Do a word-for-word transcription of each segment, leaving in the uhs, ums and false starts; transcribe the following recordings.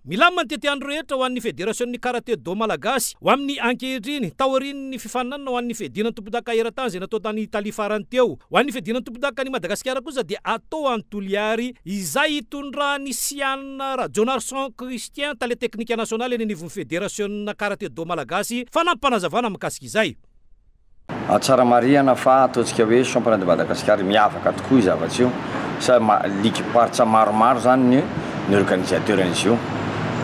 Milamina ny tetiandro rehetra ho an'ny federasion'ny karate do malagasy ho amin'ny ankehitriny taorian'ny fifaninanana ho an'ny fiadiana ny tompondaka eran-tany izay natao tany Italia farany teo. Ho an'ny fiadiana ny tompondaka ny Madagasikara kosa dia atao any Toliary izay hitondran'i Siana Rajaonarison Christian, tale teknika nasionaly eny anivon'ny federasiona karate do malagasy, fanampim-panazavana mikasika izay. Tsara marihana fa ataontsika hoe championnat de Madagascar miavaka tokoa izy zavatsy io, sa ligue paritra maromaro zany ny ny organisateur an'izy io.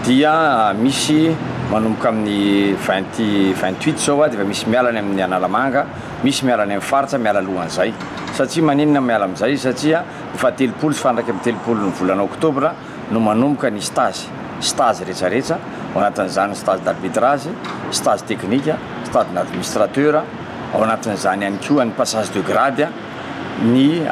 Dia misy manomboka amin'ny vingt vingt-huit zao a, dia efa misy miala any amin'ny Analamanga, misy miala any amin'ny faritra, miala alohan'izay. Satria maninona miala amin'izay? Satria efa telopolo sy faha-iraika amby telopolo ny volana oktobra no manomboka ny stage, stage rehetrarehetra, ao anatin'izany stage d'arbitrage, stage technique, stage d'administrateur, ao anatin'izany ihany koa ny passage de grade, ny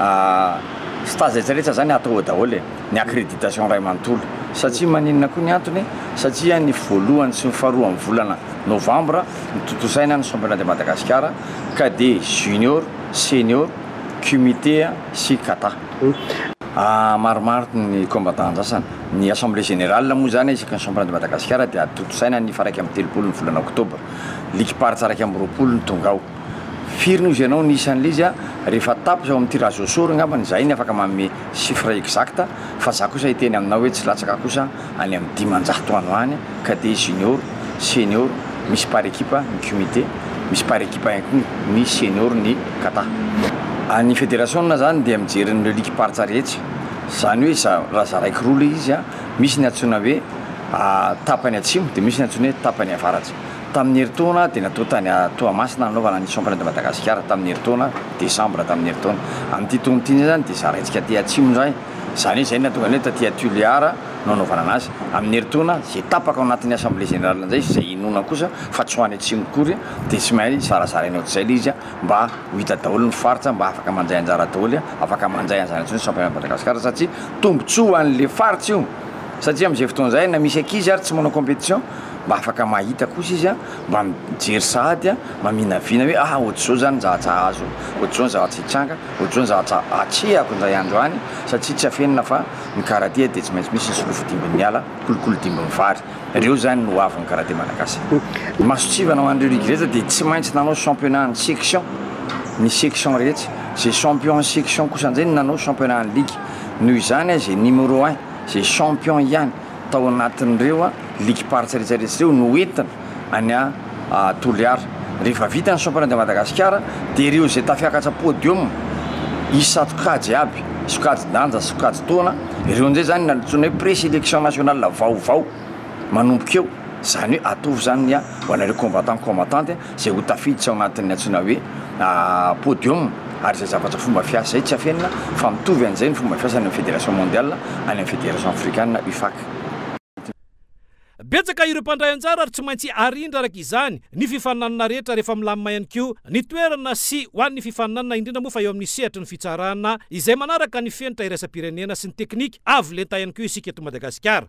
stage rehetrarehetra zany atao daholo e, ny accréditation ray manontolo. Satria maninona koa ny antony? Satria ny voalohany sy ny faharoa amin'ny volana novambra ny tontosaina ny championnat de Madagascar, cadet, junior, senior, kumite sy kata. Maromaro ny combattant andrasana. Ny assemblée générale moa zany isaky ny championnat de Madagascar dia tontosaina ny faha-iraika amby telopolo ny volana oktobra. Ligue paritra iraika amby roapolo ny tonga ao. Firy no izy ianao ny isan'ilay izy a, rehefa tapitra ao amin'ny tirage au sort angambany izay ny afaka manome chiffre exact, fa za kosa hiteny aminao hoe tsy latsaka kosa any amin'ny dimanjato any ho any, cadet, junior, senior, misy par équipe ny kumite, misy par équipe ihany koa ny senior ny kata. Ny fédération zany dia mijery ny ligue paritra rehetra, zany hoe za raha zaraiko roa ilay izy a, misy ny antsoina hoe tapany atsimo dia misy ny antsoina hoe tapany avaratra. Tamin'ny herintaona dia natao tany Toamasina nanaovana ny championnat de Madagascar tamin'ny herintaona décembre tamin'ny herintaona. Amin'ity taona ity zany dia zaraintsika aty atsimo indray, zany hoe zay no nahatonga ny hoe taty Toliara no anaovana anazy. Amin'ny herintaona izay tapaka ao anatin'ny assemblée générale indray izay inoana kosa fa tsy ho any atsimo akory dia tsy maintsy zarazaraina ohatr'izay ilay izy mba ho hita daholo ny faritra, mba afaka mandray anjara daholo, afaka mandray an'izany intsony championnat de Madagascar, satria tombontsoa ho an'le faritra io. Satria amin'izay fotoana izay na misy ankizy ary tsy manao compétition mba afaka mahita kosa izy a, mba mijery sahady a, maminavina hoe ah ohatr'izao zany ny zavatra azo, ohatr'izao ny zavatra hitranga, ohatr'izao ny zavatra atrehako indray andro any, satria tsy afenina fa ny karate dia tsy maintsy misy ny solofo dimbin'ny ala, kolikoly dimbin'ny vary. Ireo zany no avin'ny karate malagasy. Ny masotsivana ho an'ireo ligue rehetra dia tsy maintsy nanao championnat ny section, ny section rehetra. Izay champion ny section kosa indray no nanao championnat ny ligue. Noho izany izay numéro un, izay champion ihany tao anatin'ireo a ligue paritra rehetrarehetra ireo no entina any a Toliara. Rehefa vita ny championnat de Madagascar dia ireo izay tafiakatra podium isa-sokajy aby, sokajy danja, sokajy taona, ireo indray zany nantsoina hoe présélection nationale vaovao manomboka eo. Zany hoe ataovy zany a ho anareo combattant combattante izay ho tafiditra ao anatin'ny antsoina hoe podium. Ary izay zavatra fomba fiasa izay tsy afenina fa mitovy an'izay ny fomba fiasa any amin'ny fédération mondiale, any amin'ny fédération africaine U F A C. Betsaka ireo mpandray anjara ary tsy maintsy arindra araka izany ny fifaninanana rehetra rehefa milamina ihany koa ny toerana sy ho an'ny fifaninanana, indrindra moa fa eo amin'ny sehatry ny fitsarana izay manaraka ny fenitra iraisam-pirenena sy ny teknika avo lenta ihany koa isika eto Madagasikara.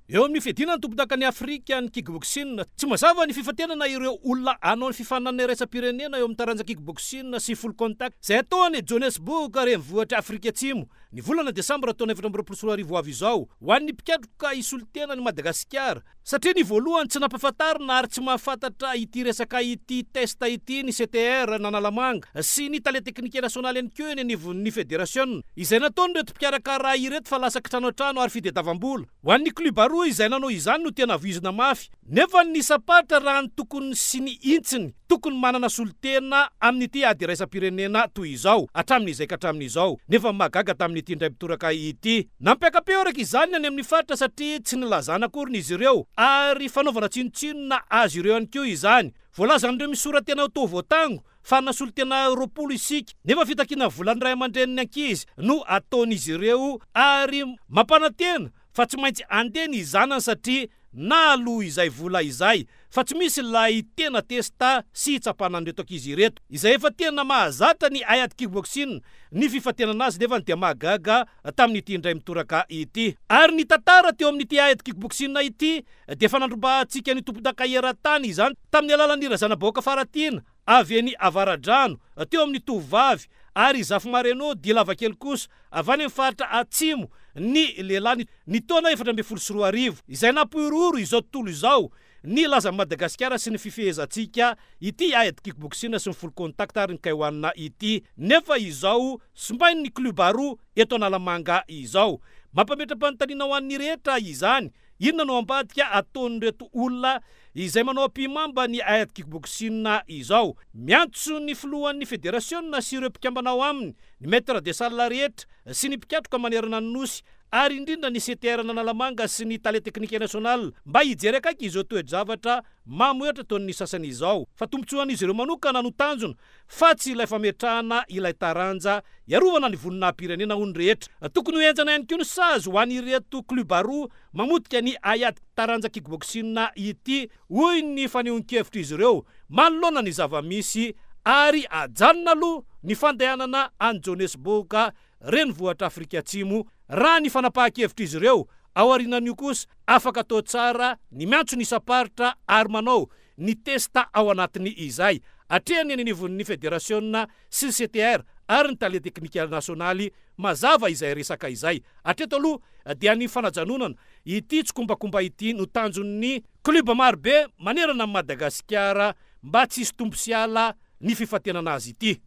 Eo amin'ny fiadiana ny tompondakan'i Afrika ny kickboxing, tsy mazava ny fifantenana ireo olona hanao ny fifaninanana iraisam-pirenena eo amin'ny taranja kickboxing sy full contact izay atao any Johannesburg renivohitra Afrika Atsimo ny volana desambra taona efatra amby roapolo sy roa arivo ho avy izao ho an'ny mpikatroka hisolo tena ny Madagasikara, satria ny voalohany tsy nampahafantarina ary tsy mahafantatra ity resaka ity test ity ny C T R n'Analamanga sy ny tale teknika nasionaly ihany koa eny anivon'ny federasiona izay nataon'ireto mpikarakara ireto fa lasa kitrano an-trano ary fitadiavam-bola. Ho an'ny club roa izay nanao izany no tena voizina mafy, nefa ny sapatra raha ny tokony sy ny intsiny tokony manana solontena amin'ity ady iraisam-pirenena toy izao hatramin'izay ka hatramin'izao, nefa mahagaga tamin'ity indray mitoraka ity. Nampiaka-peo araka izany ny any amin'ny faritra satria tsy nilazana akory izy ireo ary fanaovana tsinontsinona azy ireo ihany koa izany. Voalazan'ireo misora-tena ho toa voatango fa nasolo-tena roapolo isika, nefa fitakiana volan'ny ray aman-drenin'ny ankizy no ataon'izy ireo ary mampanantena fa tsy maintsy andeha ny zanany satria na aloha izay vola izay, fa tsy misy ilay tena testa sy hitsapana an'ireto ankizy ireto izay efa tena mahazatra ny haiady kickboxing ny fifantenana azy, nefa dia mahagaga tamin'ity indray mitoraka ity. Ary ny tantara teo amin'ity haiady kickboxing ity dia efa nandrombahantsika ny tompondaka eran-tany izany tamin'ny alalan'ny Razanabahoaka Faratiana avy eny Avaradrano teo amin'ny tovovavy ary Zafimareno Dilavakely kosa avy any amin'ny faritra Atsimo ny lehilahy ny taona efatra ambin'ny folo sy roa arivo izay nampirohoro izao tontolo izao ny lazan'i Madagasikara sy ny fifehezantsika ity ady kickboxing sy ny full contact ary ny K one ity nefa izao simbain'ny club roa eto Analamanga izao. Mampametra-panontaniana ho an'ny rehetra izany, inona no ambadika ataon'ireto olona izay manao ampihimamba ny ady kickboxing izao. Miantso ny filohan'ny federasiona sy ireo mpikambana ao aminy, ny maître de salle rehetra sy ny mpikatroka manerana ny nosy ary indrindra ny C T R Analamanga sy ny tale teknika national mba hijery akaiky izao toe-javatra mamohehatra ataon'ny sasany izao fa tombontsoan'izy ireo manokana no tanjona fa tsy ilay fametrahana ilay taranja hiarovana ny voninahim-pirenena ho ny rehetra. Tokony ho henjana ihany koa ny sazy ho an'ireto club roa mamotika ny ady taranja kickboxing ity, hoy ny fanehoan-kevitr'izy ireo manoloana ny zava-misy ary ajanona aloha ny fandehanana any Johannesburg renivohitra Afrika Atsimo raha ny fanapahan-kevitr'izy ireo. Ao aorianan'io kosa afaka atao tsara ny miantso ny isam-paritra ary manao ny testa ao anatiny izay atrehany any anivon'ny federasiona sy ny C T R ary ny tale teknika nasionaly. Mazava izay resaka izay. Hatreto aloha dia ny fanajanonana ity tsikombakomba ity no tanjon'ny club marobe manerana an'i Madagasikara mba tsy hisy tombo sy ala ny fifantenana azy ity.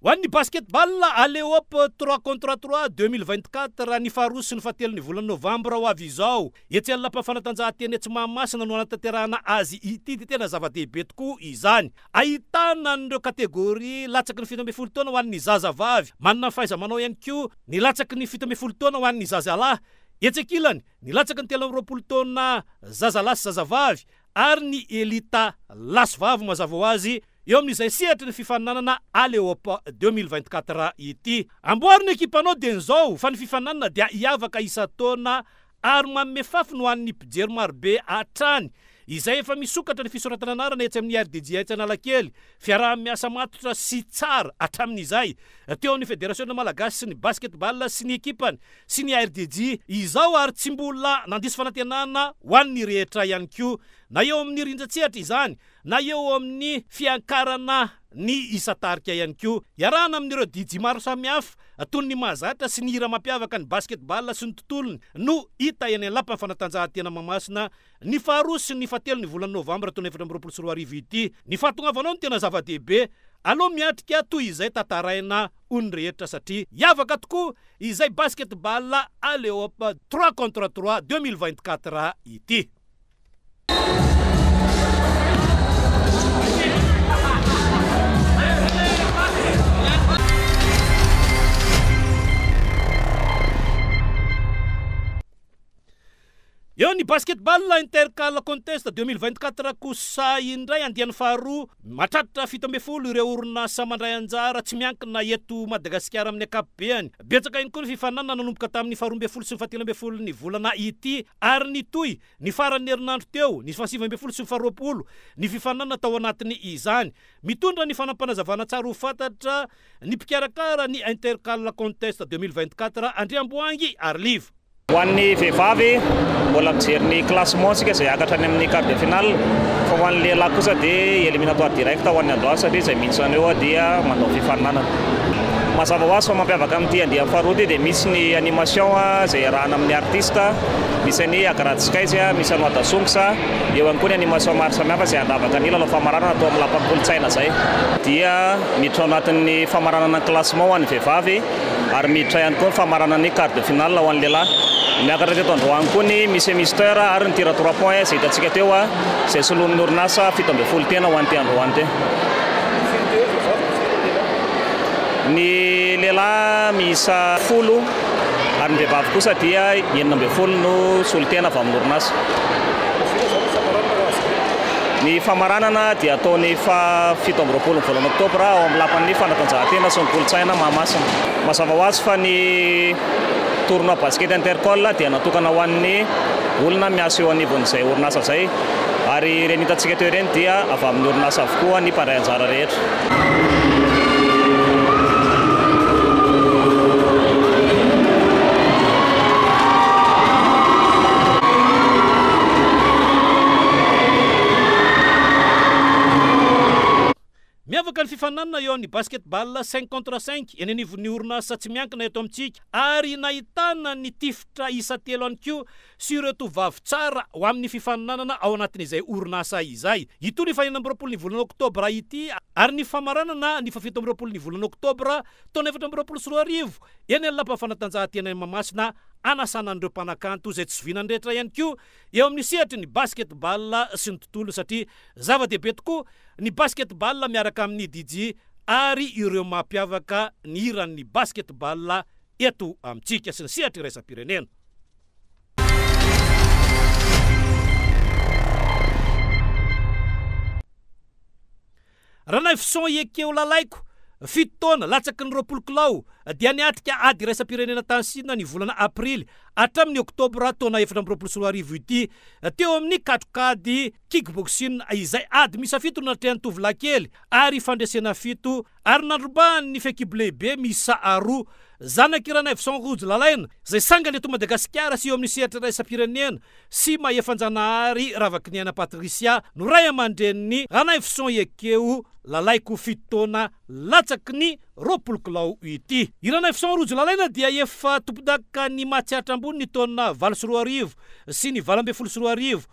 Ho an'ny basketball Alley-oop trois contre trois deux mille vingt-quatre ny faharoa sy ny fahatelo ny volana novambra ho avy izao. Etsy amin'ny lapa fanatanjahantena etsy Mahamasina no hanatanterahana azy ity, dia tena zava-dehibe tokoa izany. Ahitana an'ireo kategoria latsaky ny fito ambin'ny folo taona ho an'ny zazavavy, manana ny fahaiza-manao ihany koa ny latsaky ny fito ambin'ny folo taona ho an'ny zazalahy. Etsy ankilany ny latsaky ny telo amby roapolo taona zazalahy sy zazavavy ary ny elita lahy sy vavy mazava ho azy eo amin'izay sehatry ny fifaninanana Alley-oop deux mille vingt-quatre ity. Amboary ny ekipanao dia izao fa ny fifaninanana dia hiavaka isan-taona ary manome fafiny ho an'ny mpijery marobe hatrany izay efa misokatra ny fisoratana anarana etsy amin'ny R D J etsy Analakely. Fiaraha-miasa matotra sy tsara hatramin'izay teo amin'ny Federasiona Malagasy sy ny basketball sy ny ekipany sy ny R D J izao ary tsy mbola nandiso fanantenana ho an'ny rehetra ihany koa na eo amin'ny rindran-tsehatra izany na eo amin'ny fiankarana ny isan-tarika ihany koa. Iarahana amin'ireo D J maro samihafa toy ny mahazatra sy ny hira mampiavaka ny basketball sy ny tontolony no hita eny amin'ny lapan'ny fanatanjahantena Mahamasina ny faharoa sy ny fahatelo ny volana novambra taona efatra amby roapolo sy roa arivo ity. Ny fahatongavanao no tena zava-dehibe aloha miatrika toy izay tantaraina ho ny rehetra satria hiavaka tokoa izay basketball Alley-oop trois contre trois deux mille vingt-quatre ity. Eo ny basketball Intercal Contest deux mille vingt-quatre kosa indray andiany faharoa mahatratra fito ambin'ny folo ireo orinasa mandray anjara tsy miankina eto Madagasikara amin'ny ankapobeny. Betsaka ihany koa ny fifaninanana nanomboka tamin'ny faharoa ambin'ny folo sy ny fahatelo ambin'ny folo ny volana ity ary nitohy ny faran'ny herinandro teo ny fahasivy ambin'ny folo sy ny faharoapolo ny fifaninanana tao anatiny izany. Mitondra ny fanampanazavana tsara ho fantatra ny mpikarakara ny Intercal Contest deux mille vingt-quatre Andriamboahangy Arliva. Ho an'ny vehivavy mbola mijery ny classement tsika izay hiakatra any amin'ny quart de finale, fa ho an'ny lehilahy kosa dia éliminatoire direct ho an'ny androany satria izay mihitsy an'eo dia manao fifaninanana. Mazava ho azy fa mampiavaka amin'ity andiany faharoa ity dia misy ny animation izay iarahana amin'ny artiste, misy ny Agrad Skies, misy ny Wada Songs, eo ihany koa ny animation maro samihafa izay handravaka ny lalao famaranana atao amin'ny lapan'ny kolontsaina izay. Dia miditra ao anatin'ny famaranana ny classement ho an'ny vehivavy ary miditra ihany koa ny famaranana ny quart de finale ho an'ny lehilahy. Miakatra teto androany koa ny Miss Mister ary ny tir à trois points izay hitantsika teo izay soloin'ny orinasa fito ambin'ny folo tena ho an'ity androany ity. Ny lehilahy miisa folo ary ny vehivavy kosa dia enina ambin'ny folo no solontena avy amin'ny orinasa. Ny famaranana dia ataony faha fito amby roapolo ny volana oktobra ao amin'ny lapan'ny fanatanjahantena sy ny kolontsaina Mahamasina. Mazava ho azy fa ny tournoi basket Intercol dia natokana ho an'ny olona miasa eo anivon'izay orinasa izay ary ireny hitantsika teo ireny dia avy amin'ny orinasa avokoa ny mpandray anjara rehetra. fifaninanana eo amin'ny basketball cinq contre cinq eny anivon'ny orinasa tsy miankina eto amintsika, ary nahitana ny tifitra isa telo ihany koa sy ireo tovovavy tsara ho amin'ny fifaninanana ao anatin'izay orinasa izay. Ito ny fahenina amby roapolo ny volana oktobra ity ary ny famaranana ny fahafito amby roapolo ny volana oktobra taona efatra amby roapolo sy roa arivo eny amin'ny lapa fanatanjahantena Mahamasina, anasana an'ireo mpanakanto izay tsy zoviana ny rehetra ihany koa eo amin'ny sehatry ny basketball sy ny tontolo, satria zava-dehibe tokoa ny basketball miaraka amin'ny D J ary ireo mampiavaka ny hiran'ny basketball eto amintsika sy ny sehatra iraisam-pirenena. Ranaivoson Ekeo Lalaiko, fito taona latsaky ny roapolo kilao, dia niatrika ady iraisam-pirenena tany Sina ny volana aprily hatramin'ny oktobra taona efatra amby roapolo sy roa arivo ity, teo amin'ny katrokady kickboxing izay ady miisa fito no natrehan'ny tovolahy kely ary fandresena fito ary nandrobahany ny fehikibo lehibe miisa roa. Zanak'i Ranaivoson Rojo Lalaina izay sangany eto Madagasikara sy eo amin'ny sehatra iraisam-pirenena sy Mahefanjanahary Ravakiniaina Patricia no ray aman-dreniny Ranaivoson Ekeo Lalaiko fito taona latsaky ny roapolo kilao ity. I Ranaivoson Rojo Lalaina dia efa tompondaka ny Matsiatra ambony ny taona valo sy roa arivo sy ny valo ambin'ny folo sy roa arivo,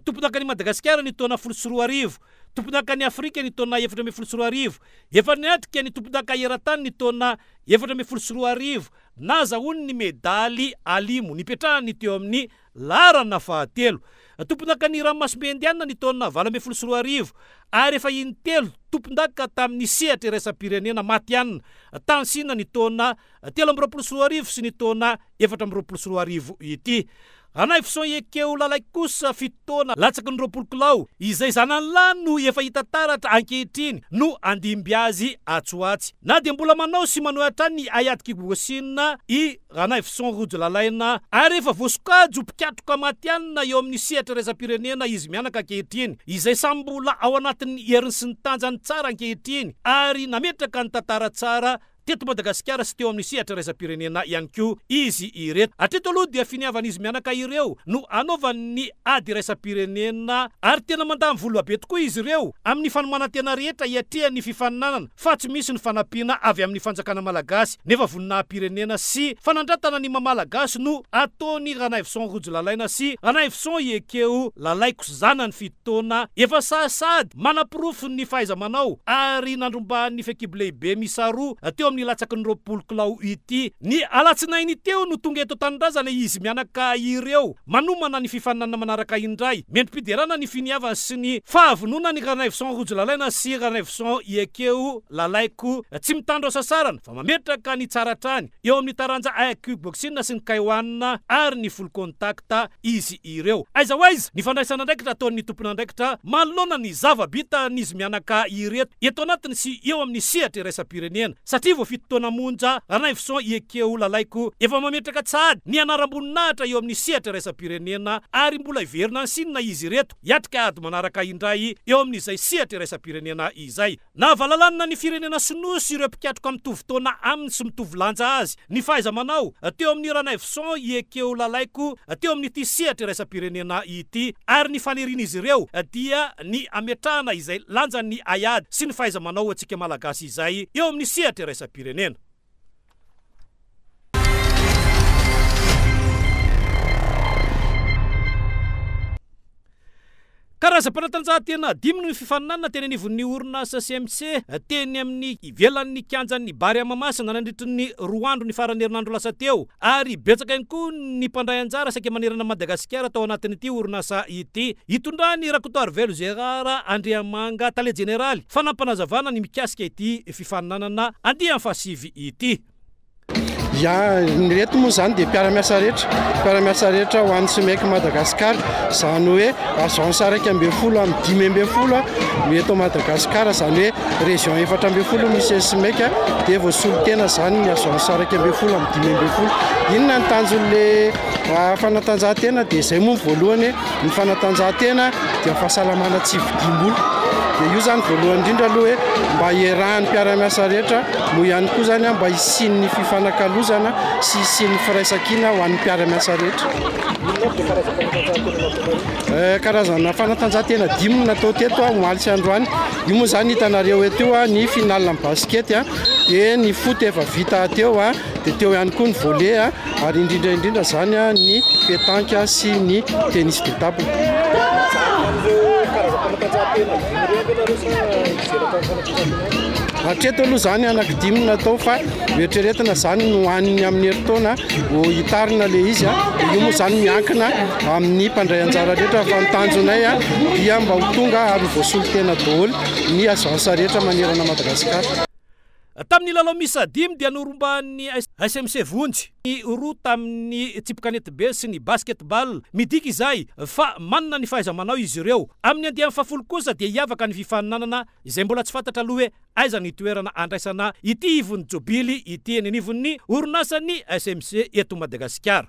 tompondaka ny Madagasikara ny taona folo sy roa arivo, tompondaka ny Afrika ny taona efatra ambin'ny folo sy roa arivo, efa niatrika ny tompondaka eran-tany ny taona efatra ambin'ny folo sy roa arivo, nazahoany ny medaly alimo nipetrahany teo amin'ny laharana fahatelo. Tompondaka ny ranomasimbe Indiana ny taona valo ambin'ny folo sy roa arivo ary efa intelo tompondaka tamin'ny sehatra iraisam-pirenena matihanina tany Sina ny taona telo amby roapolo sy roa arivo sy ny taona efatra amby roapolo sy roa arivo ity. Ranaivoson Ekeo Lalaiko kosa fito taona latsaky ny roapolo kilao izay zanany lahy no efa hita taratra ankehitriny no andimby azy atsy ho atsy. Na dia mbola manao sy manohy hatrany ny haiady kickboxing i Ranaivoson Rojo Lalaina ary efa voasokajy ho mpikatroka matihanina eo amin'ny sehatra iraisam-pirenena izy mianaka ankehitriny, izay samy mbola ao anatin'ny heriny sy ny tanjany tsara ankehitriny ary nametraka ny tantara tsara teto Madagasikara sy teo amin'ny sehatra iraisam-pirenena ihany koa izy ireto. Hatreto aloha dia finiavan'izy mianaka ireo no anaovan'ny ady iraisam-pirenena ary tena mandany vola be tokoa izy ireo amin'ny fanomanan-tena rehetra hiatrehan'ny fifaninanana, fa tsy misy ny fanampiana avy amin'ny fanjakana malagasy, nefa voninahim-pirenena sy fanandratana ny maha-malagasy no ataony Ranaivoson Rojo Lalaina sy Ranaivoson Ekeo Lalaiko zanany fito taona efa sahasady manaporofo ny fahaiza-manao ary nandrombahan'ny fehikibo lehibe miisa roa teo amin'ny latsaky ny roapolo kilao ity. Ny alatsinainy teo no tonga eto tanindrazana izy mianaka ireo manomana ny fifaninanana manaraka indray. Mendri-piderana ny finiavana sy ny fahavononany Ranaivoson Rojo Lalaina sy Ranaivoson Ekeo Lalaiko tsy mitandro sasarana fa mametraka ny tsara hatrany eo amin'ny taranja kickboxing sy ny kaiwan ary ny full contact izy ireo. Aiza ho aiza ny fandraisana andraikitra ataon'ny tompon'andraikitra manoloana ny zava-bita n'izy mianaka ireto eto anatiny sy eo amin'ny sehatra iraisam-pirenena, satria vao fito taona monja Ranaivoson Ekeo Lalaiko efa mametraka tsady ny anaram-boninahitra eo amin'ny sehatra iraisam-pirenena ary mbola hiverina any Sina izy ireto hiatrika ady manaraka indray eo amin'izay sehatra iraisam-pirenena izay. Nahavalalana ny firenena sinoa sy ireo mpikatroka mitovy taona aminy sy mitovy lanja azy ny fahaiza-manao teo amin'ny Ranaivoson Ekeo Lalaiko teo amin'ity sehatra iraisam-pirenena ity, ary ny fanirian'izy ireo dia ny ametrahana izay lanjan'ny haiady sy ny fahaiza-manao antsika malagasy izay eo amin'ny sehatra iraisam-pirenena. Karazam-panatanjahantena dimy no fifaninanana teny anivon'ny orinasa C M C teny amin'ny ivelan'ny kianjan'ny Barea Mahamasina nandritry ny roa andro ny faran'ny herinandro lasa teo, ary betsaka ihany koa ny mpandray anjara saika manerana Madagasikara tao anatin'ity orinasa ity. Hitondrany Rakotoarivelo Gérard Andriamanga, tale jeneraly, fanampanazavana ny mikasika ity fifaninanana andiany fahasivy ity. Ya, ny reto moa zany dia mpiara-miasa rehetra, mpiara-miasa rehetra ho an'ny SMEC Madagasikara, izany hoe agence iraika ambin'ny folo amin'ny dimy ambin'ny folo no eto Madagasikara, izany hoe région efatra ambin'ny folo misy ny SMEC dia voasolo tena zany ny agence iraika ambin'ny folo amin'ny dimy ambin'ny folo. Inona ny tanjon'le, ah, fanatanjahantena? Dia izay moa ny voalohany, ny fanatanjahantena dia fahasalamana tsy vidim-bola. Dia io zany voalohany indrindra aloha hoe mba iarahan'ny mpiara-miasa rehetra, moa ihany koa zany a mba hisian'ny fifanakalozana sy hisian'ny firaisankina ho an'ny mpiara-miasa rehetra. Karazana fanatanjahantena dimy no natao teto a omaly sy androany. Io moa zany hitanareo eto io a ny finale amin'ny basket a, dia ny foot efa vita teo a, dia teo ihany koa ny volley a, ary indrindra indrindra zany a ny pétanque sy ny tennis de table. Hatreto aloha zany anankidimy natao, fa eritreretina zany no aniny amin'ny herintaona ho hitarina le izy a. Io moa zany miankina amin'ny mpandray anjara rehetra, fa ny tanjonay a dia mba ho tonga ary ho voasolo tena daholo ny agence rehetra manerana Madagasikara. Tamin'ny lalao miisa dimy dia norombahan'ny S M C Vonjy ny roa tamin'ny tsipy be sy ny basketball. Midika izay fa manana ny fahaiza-manao izy ireo. Amin'ny andiany fahafolo kosa dia hiavaka ny fifaninanana izay mbola tsy fantatra aloha hoe aiza ny toerana andraisana ity ivon'ny jobily ity eny anivon'ny orinasan'ny S M C eto Madagasikara.